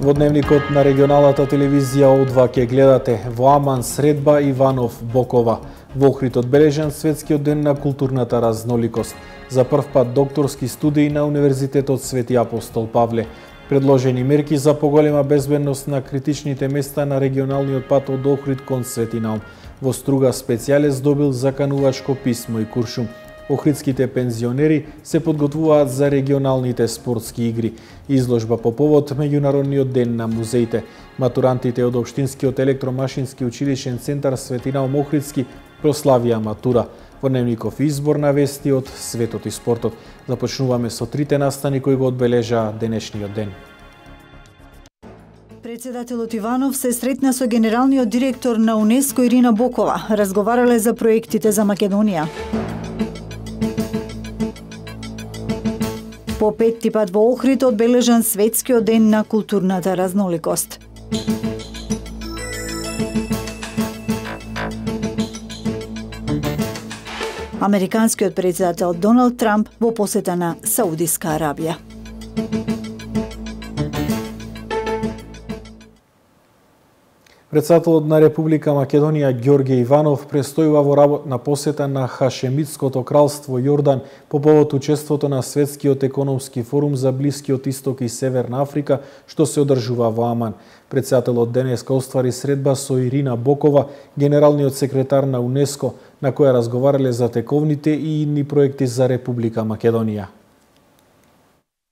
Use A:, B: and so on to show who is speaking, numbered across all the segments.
A: Во дневникот на регионалната телевизија О2 ќе гледате во Аман средба Иванов Бокова. Во Охрид одбележан светскиот ден на културната разноликост. За прв пат докторски студии на Универзитетот Свети Апостол Павле. Предложени мерки за поголема безбедност на критичните места на регионалниот пат од Охрид кон Свети Наум. Во Струга специјалец добил заканувачко писмо и куршум. Охридските пензионери се подготвуваат за регионалните спортски игри. Изложба по повод Меѓународниот ден на музеите. Матурантите од Општинскиот електромашински училишен центар Свети Наум Охридски прославија матура. Во дневников избор на вести од светот и спортот. Започнуваме со трите настани кои го одбележаа денешниот ден.
B: Председателот Иванов се сретна со генералниот директор на УНЕСКО Ирина Бокова. Разговарале за проектите за Македонија. По петти пат во Охрид одбележан светскиот ден на културната разноликост. Американскиот председател Доналд Трамп во посета на Саудиска Арабија.
A: Председателот на Република Македонија Ѓорѓе Иванов престојува во работна посета на Хашемитското кралство Јордан по повод учеството на Светскиот економски форум за Блискиот Исток и Северна Африка, што се одржува во Аман. Председателот денеска оствари средба со Ирина Бокова, генералниот секретар на УНЕСКО, на која разговарале за тековните и идни проекти за Република Македонија.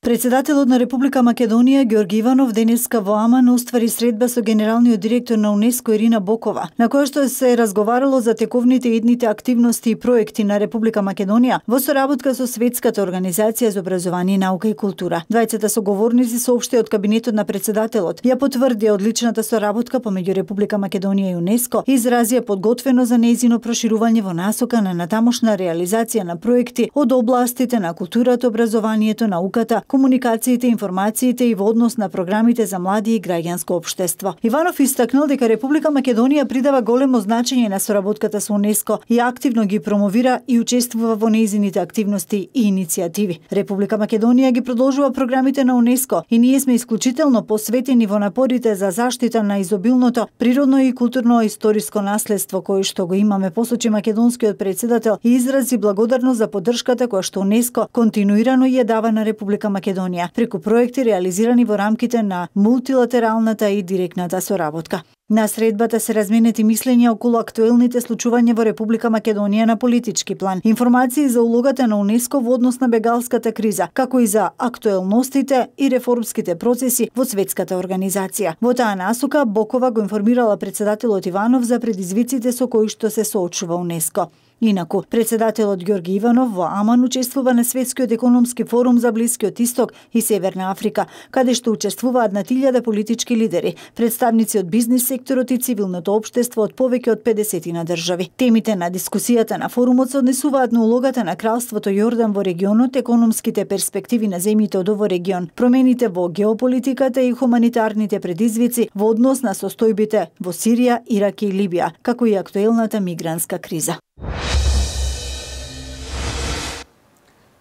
B: Председателот на Република Македонија Ѓорѓе Иванов денеска во Аман оствари средба со генералниот директор на УНЕСКО Ирина Бокова, на која што се разговарало за тековните и идните активности и проекти на Република Македонија во соработка со Светската организација за образование, наука и култура. Двајцата соговорници соопштија од кабинетот на председателот, ја потврдија одличната соработка помеѓу Република Македонија и УНЕСКО и изразија подготвено за нејзино проширување во насока на натамошна реализација на проекти од областите на културата, образованието, науката, комуникациите, информациите и во однос на програмите за млади и граѓанско општество. Иванов истакнал дека Република Македонија придава големо значење на соработката со УНЕСКО и активно ги промовира и учествува во нејзините активности и иницијативи. Република Македонија ги продолжува програмите на УНЕСКО и ние сме исклучително посветени во напорите за заштита на изобилното природно и културно-историско наследство кое што го имаме, посочи македонскиот председател и изрази благодарност за поддршката која што УНЕСКО континуирано ја дава на Република Македонија преку проекти реализирани во рамките на мултилатералната и директната соработка. На средбата се разменети мислења околу актуелните случувања во Република Македонија на политички план, информации за улогата на УНЕСКО во однос на бегалската криза, како и за актуелностите и реформските процеси во светската организација. Во таа насока Бокова го информирала председателот Иванов за предизвиците со кои што се соочува УНЕСКО. Инаку, председателот Ѓорѓе Иванов во Аман учествува на Светскиот економски форум за Блискиот Исток и Северна Африка, каде што учествуваат над 1000 политички лидери, представници од бизнис секторот и цивилното општество од повеќе од 50 држави. Темите на дискусијата на форумот се однесуваат на улогата на кралството Јордан во регионот, економските перспективи на земјите од овој регион, промените во геополитиката и хуманитарните предизвици во однос на состојбите во Сирија, Ирак и Либија, како и актуелната мигрантска криза.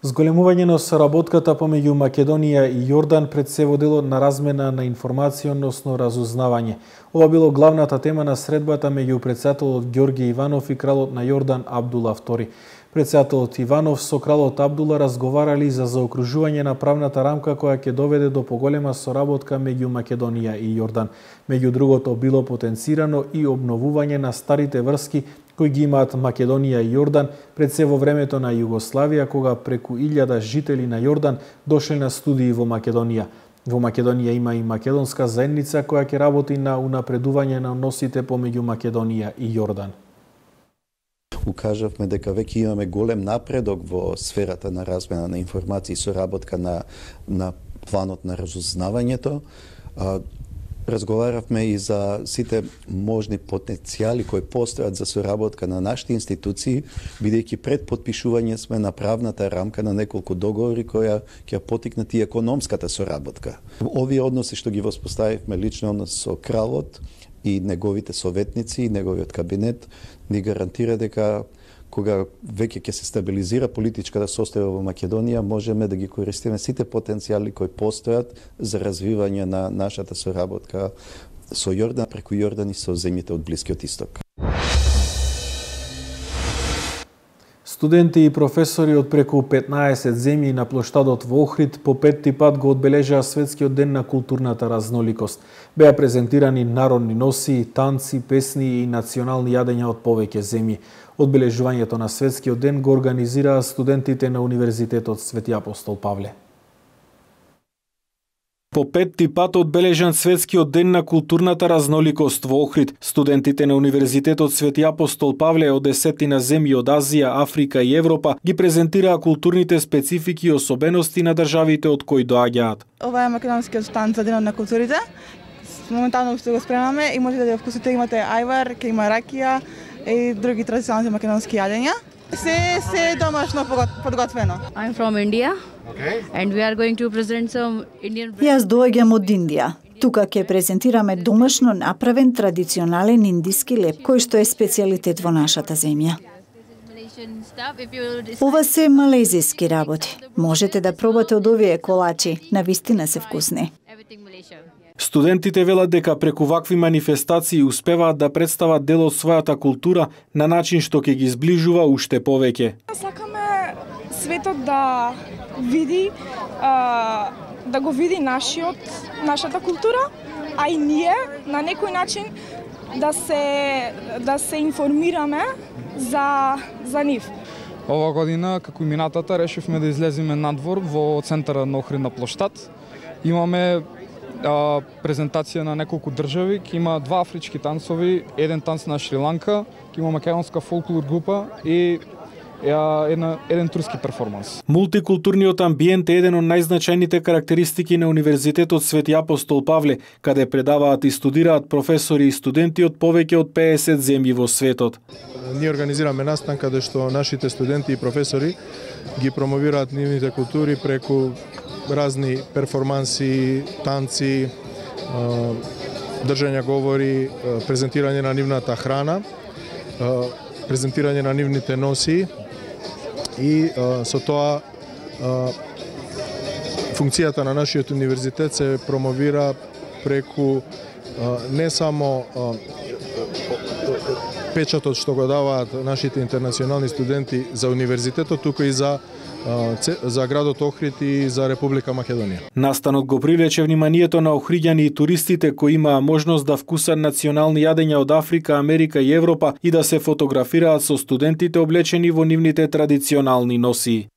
A: Зголемување на соработката помеѓу Македонија и Јордан пред се водело на размена на информација, односно разузнавање. Ова било главната тема на средбата меѓу председателот Ѓорѓе Иванов и кралот на Јордан Абдула II. Председателот Иванов со кралот Абдула разговарали за заокружување на правната рамка која ќе доведе до поголема соработка меѓу Македонија и Јордан. Меѓу другото било потенцирано и обновување на старите врски кои ги имаат Македонија и Јордан пред се во времето на Југославија, кога преку 1000 жители на Јордан дошле на студии во Македонија. Во Македонија има и македонска заедница која ќе работи на унапредување на односите помеѓу Македонија и Јордан.
C: Укажавме дека веќе имаме голем напредок во сферата на размена на информации и соработка на планот на разузнавањето. Разговаравме и за сите можни потенцијали кои постојат за соработка на нашите институции, бидејќи пред подпишување сме на правната рамка на неколку договори која ќе потикнат и економската соработка. Овие односи што ги воспоставивме, личен однос со кралот и неговите советници и неговиот кабинет, ни гарантира дека кога веќе ќе се стабилизира политичката состојба во Македонија, можеме да ги користиме сите потенцијали кои постојат за развивање на нашата соработка со Јордан, преку Јордан и со земјите од Блискиот Исток.
A: Студенти и професори од преку 15 земји на плоштадот во Охрид по петти пат го одбележаа Светскиот ден на културната разноликост. Беа презентирани народни носи, танци, песни и национални јадења од повеќе земји. Одбележувањето на Светскиот ден го организираа студентите на Универзитетот Свети Апостол Павле. По петти пат одбележан Светскиот ден на културната разноликост во Охрид, студентите на Универзитетот Свети Апостол Павле од 10 земји од Азија, Африка и Европа ги презентираа културните специфики и особености на државите од кои доаѓаат.
D: Ова е македонскиот танц за Денот на културите. Моментално што го спремаме и можете да ја вкусите, имате ајвар, ќе има ракија и други традиционални македонски јадења. Се домашно подготвено.
E: I'm from India. Okay. And we are going to present some Indian.
B: Јас доаѓам од Индија. Тука ќе презентираме домашно направен традиционален индиски леп, кој што е специјалитет во нашата земја. Ова се малезиски работи. Можете да пробате од овие колачи, навистина се вкусни.
A: Студентите велат дека преку вакви манифестации успеваат да представат дел од својата култура на начин што ќе ги зближува уште повеќе.
F: Сакаме светот да види, да го види нашата култура, а и ние на некој начин да се информираме за нив.
G: Ова година, како и минатата, решивме да излеземе надвор во центарот на Охрид на плоштад. Имаме презентација на неколку држави, ќе има 2 афрички танцови, еден танц на Шри-Ланка, ќе има македонска фолклор група и еден турски перформанс.
A: Мултикултурниот амбиент е еден од најзначајните карактеристики на Универзитетот Свети Апостол Павле, каде предаваат и студираат професори и студенти од повеќе од 50 земји во светот.
H: Ние организираме настан каде што нашите студенти и професори ги промовираат нивните култури преку разни перформанси, танци, држање говори, презентирање на нивната храна, презентирање на нивните носи и со тоа функцијата на нашиот универзитет се промовира преку не само печатот што го даваат нашите интернационални студенти за универзитетот, туку и за градот Охрид и за Република Македонија.
A: Настанот го привлече вниманието на охриѓани и туристите кои имаа можност да вкусат национални јадења од Африка, Америка и Европа и да се фотографираат со студентите облечени во нивните традиционални носи.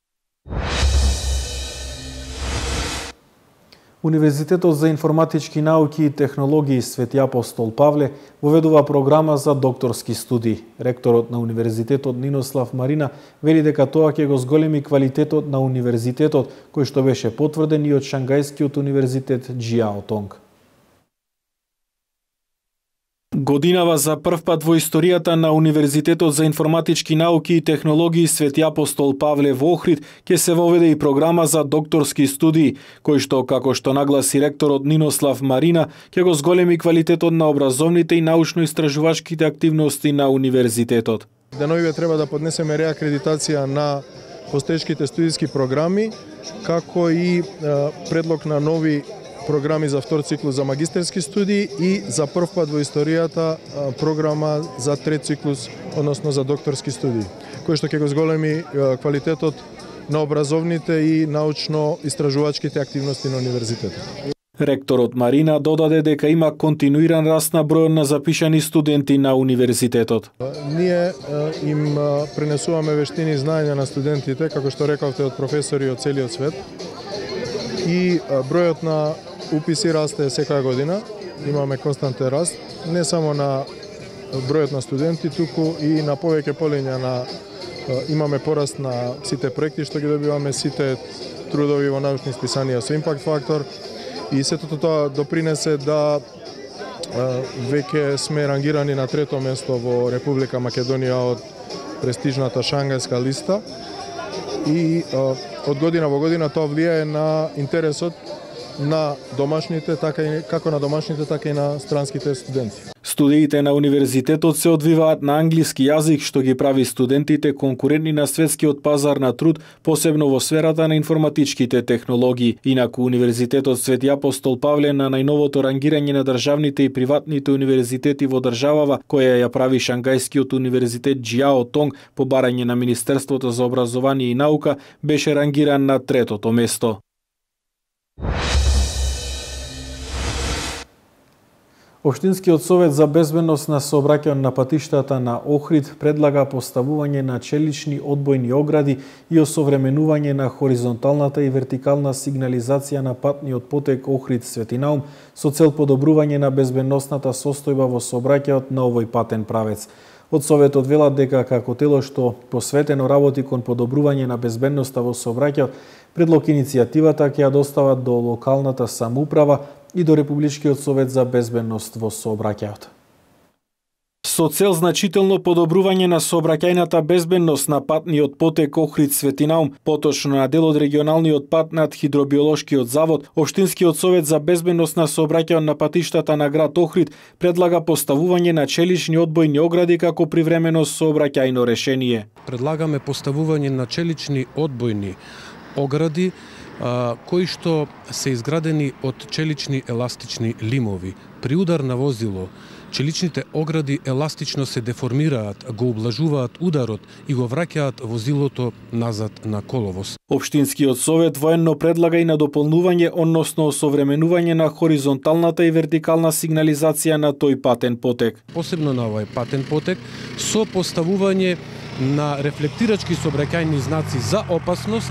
A: Универзитетот за информатички науки и технологии Свети Апостол Павле воведува програма за докторски студии. Ректорот на Универзитетот Нинослав Марина вели дека тоа ќе го зголеми квалитетот на универзитетот, кој што беше потврден и од Шангајскиот универзитет Џиао Тонг. Годинава за прв пат во историјата на Универзитетот за информатички науки и технологии Свети Апостол Павле во Охрид ќе се воведе и програма за докторски студии, кој што, како што нагласи ректорот Нинослав Марина, ќе го зголеми квалитетот на образовните и научно-истражувачките активности на универзитетот.
H: Деновиве треба да поднесеме реакредитација на постоечките студиски програми, како и предлог на нови програми за втор циклус за магистерски студии и за прв пат во историјата програма за трет циклус, односно за докторски студии, кој што ќе го зголеми квалитетот на образовните и научно-истражувачките активности на универзитетот.
A: Ректорот Марина додаде дека има континуиран раст на бројот на запишани студенти на универзитетот.
H: Ние им пренесуваме вештини и знаења на студентите, како што рековте, од професори од целиот свет. И бројот на уписи расте секоја година, имаме константен раст, не само на бројот на студенти, туку и на повеќе полиња на имаме пораст на сите проекти што ги добиваме, сите трудови во научни списанија со импакт фактор и сето тоа допринесе да веќе сме рангирани на трето место во Република Македонија од престижната Шангајска листа и од година во година тоа влијае на интересот на домашните, како на домашните, така и на странските студенти.
A: Студиите на универзитетот се одвиваат на англиски јазик, што ги прави студентите конкурентни на светскиот пазар на труд, посебно во сферата на информатичките технологии. Инаку Универзитетот Свети Апостол Павле на најновото рангирање на државните и приватните универзитети во државава, која ја прави Шангајскиот универзитет Џиао Тонг по барање на Министерството за образование и наука, беше рангиран на 3-то место. Општинскиот совет за безбедност на сообраќајот на патиштата на Охрид предлага поставување на челични одбојни огради и осовременување на хоризонталната и вертикална сигнализација на патниот потек Охрид Свети Наум со цел подобрување на безбедносната состојба во сообраќајот на овој патен правец. Од Советот велат дека како тело што посветено работи кон подобрување на безбедноста во сообраќајот, предлог иницијативата ќе ја достават до локалната самоуправа и до Републичкиот совет за безбедност во сообраќајот. Со цел значително подобрување на сообраќајната безбедност на патниот потек Охрид Свети Наум, поточно на дел од регионалниот пат над Хидробиолошкиот завод, Општинскиот совет за безбедност на сообраќајот на патиштата на град Охрид предлага поставување на челични одбојни огради како привремено сообраќајно решение.
I: Предлагаме поставување на челични одбојни огради кои што се изградени од челични еластични лимови. При удар на возило, челичните огради еластично се деформираат, го ублажуваат ударот и го враќаат возилото назад на коловоз.
A: Општинскиот совет военно предлага и на дополнување, односно осовременување на хоризонталната и вертикална сигнализација на тој патен потек.
I: Посебно на овој патен потек, со поставување на рефлектирачки сообраќајни знаци за опасност,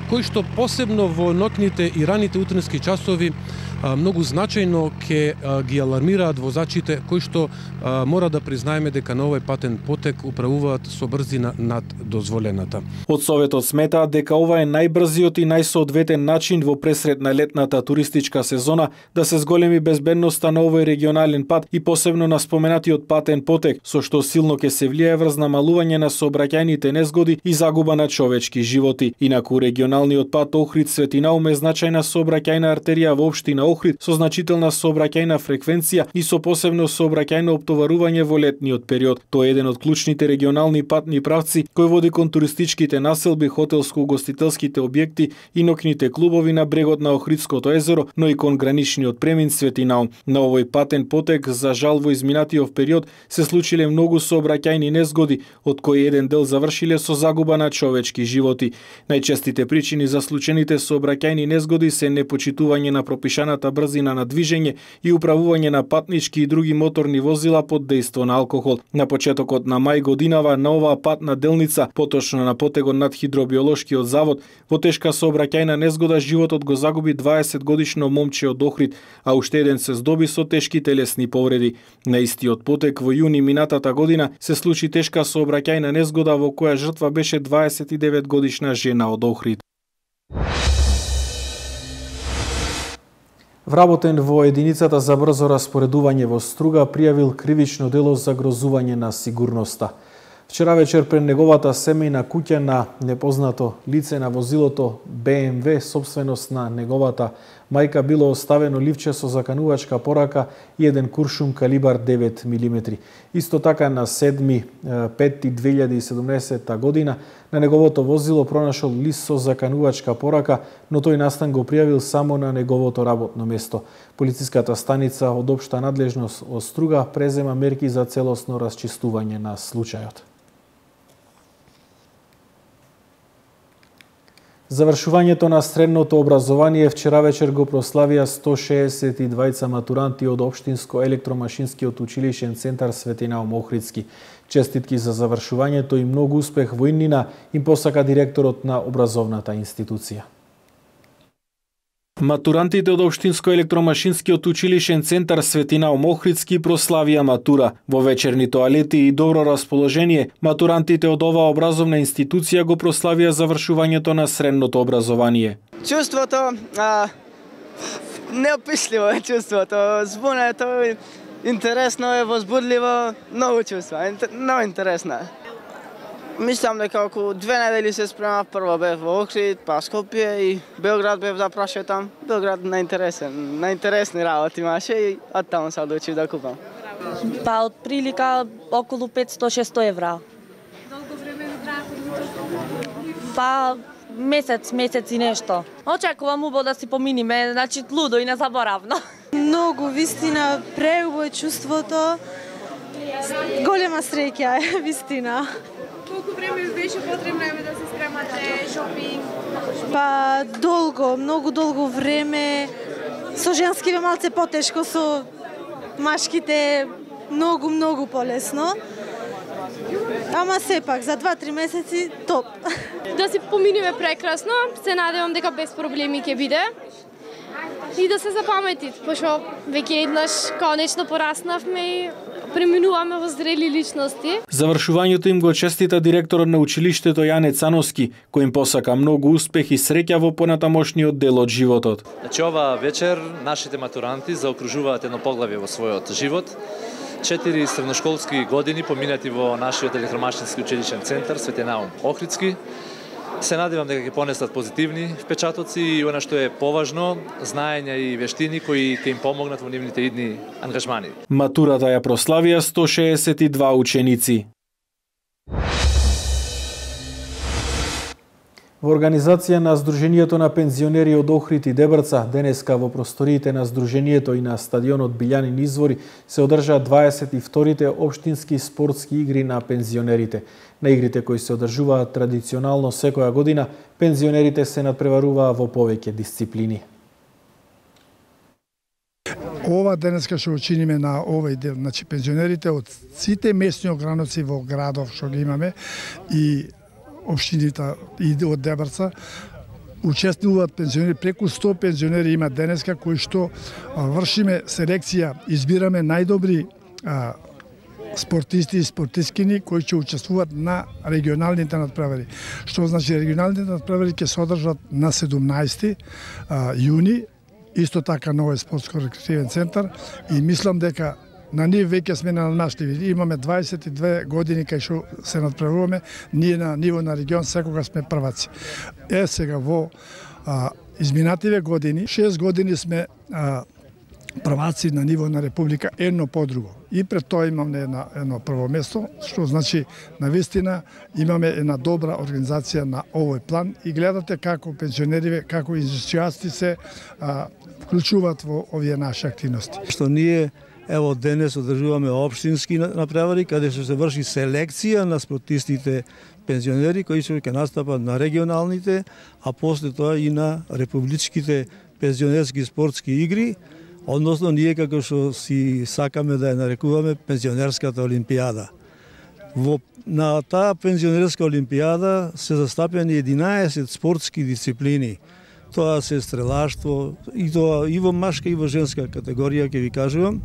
I: кои што посебно во ноќните и раните утрински часови многу значајно ќе ги алармираат возачите кои што мора да признаеме дека на овој патен потек управуваат со брзина над дозволената.
A: Од Советот сметаат дека ова е најбрзиот и најсоодветен начин во пресред на летната туристичка сезона да се зголеми безбедноста на овој регионален пат и посебно на споменатиот патен потек, со што силно ќе се влијае врз намалување на сообраќајните незгоди и загуба на човечки животи. Инаку регионалниот пат Охрид Свети Наум е значајна сообраќајна артерија во општина Охрид со значителна сообраќајна фреквенција и со посебно сообраќајно оптоварување во летниот период. Тоа е еден од клучните регионални патни правци кој води кон туристичките населби, хотелско-угостителските објекти и ноќните клубови на брегот на Охридското езеро, но и кон граничниот премин Свети Наум. На овој патен потек, за жал во изминатиот период, се случиле многу сообраќајни незгоди, од кои еден дел завршиле со загуба на човечки животи. Најчестите причини за случените сообраќајни незгоди се непочитување на пропишаната брзина на движење и управување на патнички и други моторни возила под дејство на алкохол. На почетокот на мај годинава на оваа патна делница, поточно на потегот над Хидробиолошкиот завод, во тешка сообраќајна незгода животот го загуби 20-годишно момче од Охрид, а уште еден се здоби со тешки телесни повреди. На истиот потек во јуни минатата година се случи тешка сообраќајна незгода во која жртва беше 29-годишна жена од Охрид. Вработен во единицата за брзо распоредување во Струга пријавил кривично дело за грозување на сигурноста. Вчера вечер пред неговата семејна куќа на непознато лице на возилото BMW, собственост на неговата мајка, било оставено ливче со заканувачка порака и еден куршум калибар 9 мм. Исто така на 7.5.2017 година на неговото возило пронашол лист со заканувачка порака, но тој настан го пријавил само на неговото работно место. Полициската станица од општа надлежност од Струга презема мерки за целосно расчистување на случајот. Завршувањето на средното образование вчера вечер го прославија 162 матуранти од Општинско електромашинскиот училишен центар Свети Наум Охридски. Честитки за завршувањето и многу успех во иднина им посака директорот на образовната институција. Матурантите од Општинско електромашинскиот училишен центар Свети Наум Охридски прославија матура. Во вечерни тоалети и добро расположение, матурантите од оваа образовна институција го прославија завршувањето на средното образование.
J: Чувството, неописливо е чувството, збунето, интересно е, возбудливо, многу чувства, много интересно. Мислам дека околу 2 недели се спремав. Прво бев во Охрид, па Скопје и Белград бев да прашетам. Белград наинтересни работи имаше и од таму се одлучив да купам.
K: Па од прилика околу 500-600 евра.
L: Долго време ви трае подготовка?
K: Па месец и нешто. Очекувам убаво да си поминиме, значи лудо и незаборавно.
L: Многу, вистина, преубаво е чувството. Голема среќа е, вистина. Колку време ви беше потребно да се спремате шопинг? Па долго, многу долго време. Со женски бе малце потешко, со машките многу полесно. Ама сепак, за 2-3 месеци топ.
M: Да си поминиме прекрасно, се надевам дека без проблеми ќе биде. И да се запамети, пошто веќе еднаш конечно пораснавме и преминуваме во зрели личности.
A: Завршувањето им го честита директорот на училиштето Јане Цановски, кој им посака многу успех и среќа во понатамошниот дел од животот.
N: Значи ова вечер нашите матуранти заокружуваат едно поглавје во својот живот. 4 средношколски години поминати во нашиот електромашински училишен центар Свети Наум Охридски. Се надевам дека ќе понесат позитивни впечатоци и она што е поважно, знаења и вештини кои ќе им помогнат во нивните идни ангажмани.
A: Матурата ја прославија 162 ученици. Во организација на Сдруженијето на пензионери од Охрид и Дебрца, денеска во просториите на Сдруженијето и на стадионот Билјанин извори се одржаа 22-те општински спортски игри на пензионерите. На игрите кои се одржуваат традиционално секоја година, пензионерите се надпреваруваа во повеќе дисциплини.
O: Ова денеска што учиниме на овој дел, значи пензионерите од сите месни ограновци во градов што ги имаме и општините и од Дебрца учествуваат пензионери, преку 100 пензионери има денеска кои што вршиме селекција, избираме најдобри спортисти и спортисткини кои ќе учествуваат на регионалните надпревари. Што значи регионалните надпревари ќе се одржат на 17 јуни, исто така на овој спортско-рекреативен центар и мислам дека на нив веќе сме надмаштливи. Имаме 22 години кај што се надпреваруваме, ние на ниво на регион секогаш сме прваци. Сега во изминативе години, 6 години сме прваци на ниво на Република, едно по друго. И пред тоа имаме едно прво место, што значи навистина имаме една добра организација на овој план и гледате како пензионери, како ентузијасти се вклучуваат во овие наши активности.
P: Што ние ево денес одржуваме општински надпревари каде што се врши селекција на спортистите пензионери кои ќе настапат на регионалните, а после тоа и на републичките пензионерски спортски игри. Односно, ние како што си сакаме да ја нарекуваме пензионерската олимпијада. На таа пензионерска олимпијада се застапени 11 спортски дисциплини. Тоа се стрелаштво, и тоа и во машка и во женска категорија, ќе ви кажувам.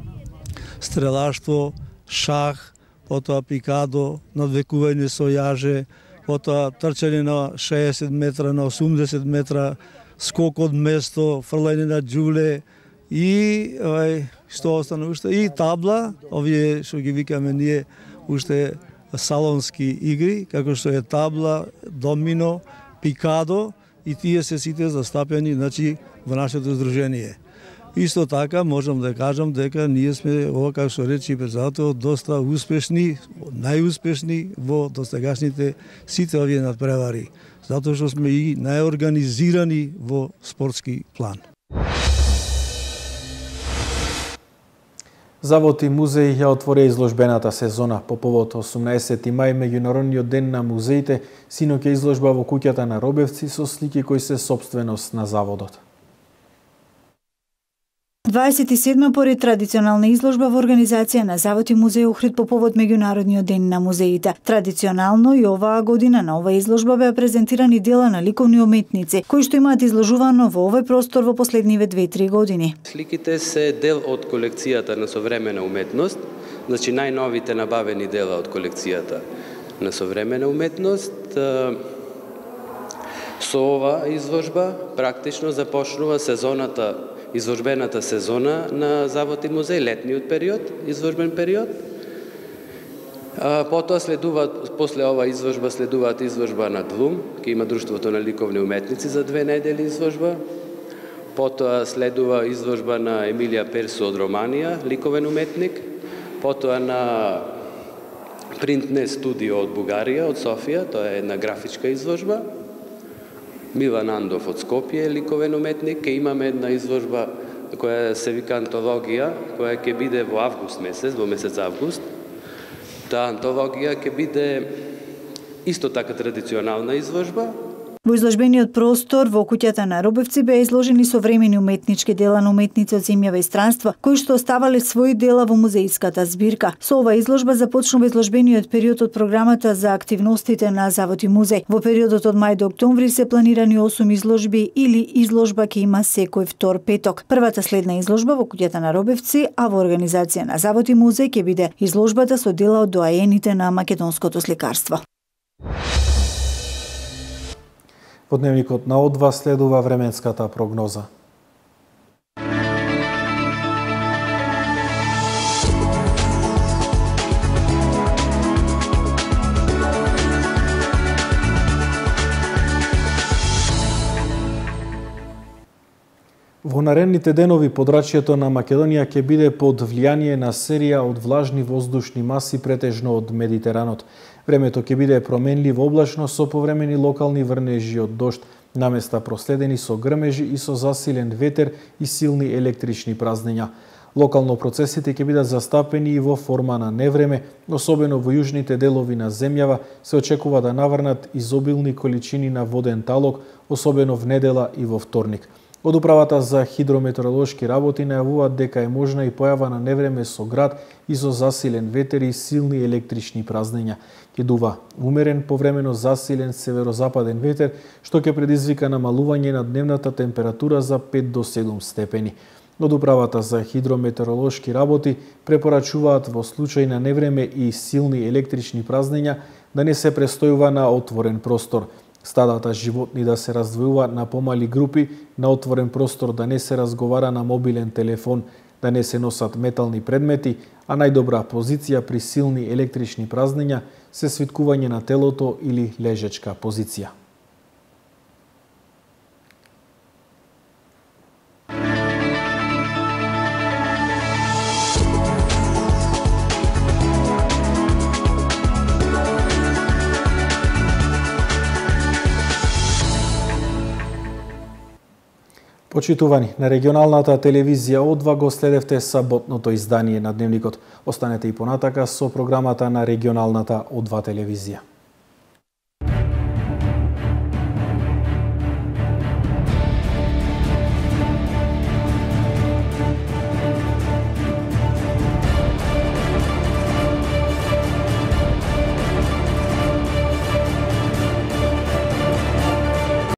P: Стрелаштво, шах, потоа пикадо, надвекување со јаже, потоа трчање на 60 метра, на 80 метра, скок од место, фрлање на џуле, и што остана уште и табла, овие што ги викаме ние уште салонски игри, како што е табла, домино, пикадо и тие се сите застапени значи во нашето здружение. Исто така можам да кажам дека ние сме ова како што рече председател доста успешни, најуспешни во досегашните сите овие надпревари, затоа што сме и најорганизирани во спортски план.
A: Завод и музеи ја отвори изложбената сезона. По повод 18 мај, меѓународниот ден на музеите, синоќа изложба во куќата на Робевци со слики кои се сопственост на заводот.
B: 27 поред традиционална изложба во организација на Завод и музеј Охрид по повод меѓународниот ден на музеите. Традиционално и оваа година на оваа изложба беа презентирани дела на ликовни уметници, кои што имаат изложувано во овој простор во последниве 2-3 години.
Q: Сликите се дел од колекцијата на современа уметност, значи најновите набавени дела од колекцијата на современа уметност. Со оваа изложба практично започнува изложбената сезона на Завод и музеј, летниот период, изложбен период. Потоа после ова изложба следуваат изложба на ДЛУМ, ке има Друштвото на ликовни уметници за 2 недели изложба. Потоа следува изложба на Емилија Персо од Романија, ликовен уметник. Потоа на Принтне студио од Бугарија, од Софија, тоа е една графичка изложба. Милан Андов од Скопје, ликовен уметник. Ке имаме една изложба која се вика антологија, која ќе биде во август месец, во месец август. Таа антологија ќе биде исто така традиционална изложба.
B: Во изложбениот простор во куќата на Робевци беа изложени современи уметнички дела на уметници од земјава и странства, кои што оставале своји дела во музеиската збирка. Со ова изложба започнува изложбениот период од програмата за активностите на Завод и музеј. Во периодот од мај до октомври се планирани 8 изложби или изложба ќе има секој втор петок. Првата следна изложба во куќата на Робевци, а во организација на Завод и музеј ќе биде изложбата со дела од доаените на македонското сликарство.
A: Во дневникот на О2 следува временската прогноза. Во наредните денови подрачјето на Македонија ќе биде под влијание на серија од влажни воздушни маси претежно од Медитеранот. Времето ќе биде променливо облачно со повремени локални врнежи од дожд, наместа проследени со грмежи и со засилен ветер и силни електрични празнења. Локално процесите ќе бидат застапени и во форма на невреме, особено во јужните делови на земјава се очекува да наврнат изобилни количини на воден талок, особено в недела и во вторник. Од Управата за хидрометеоролошки работи најавуваат дека е можна и појава на невреме со град и со засилен ветер и силни електрични празнења. Ќе дува умерен, повремено засилен северозападен ветер, што ќе предизвика намалување на дневната температура за 5 до 7 степени. Од Управата за хидрометеоролошки работи препорачуваат во случај на невреме и силни електрични празнења да не се престојува на отворен простор. Стадата животни да се раздвојуваат на помали групи, на отворен простор да не се разговара на мобилен телефон, да не се носат метални предмети, а најдобра позиција при силни електрични празнења се свиткување на телото или лежечка позиција. Почитувани, на регионалната телевизија О2 го следевте саботното издание на Дневникот. Останете и понатака со програмата на регионалната О2 телевизија.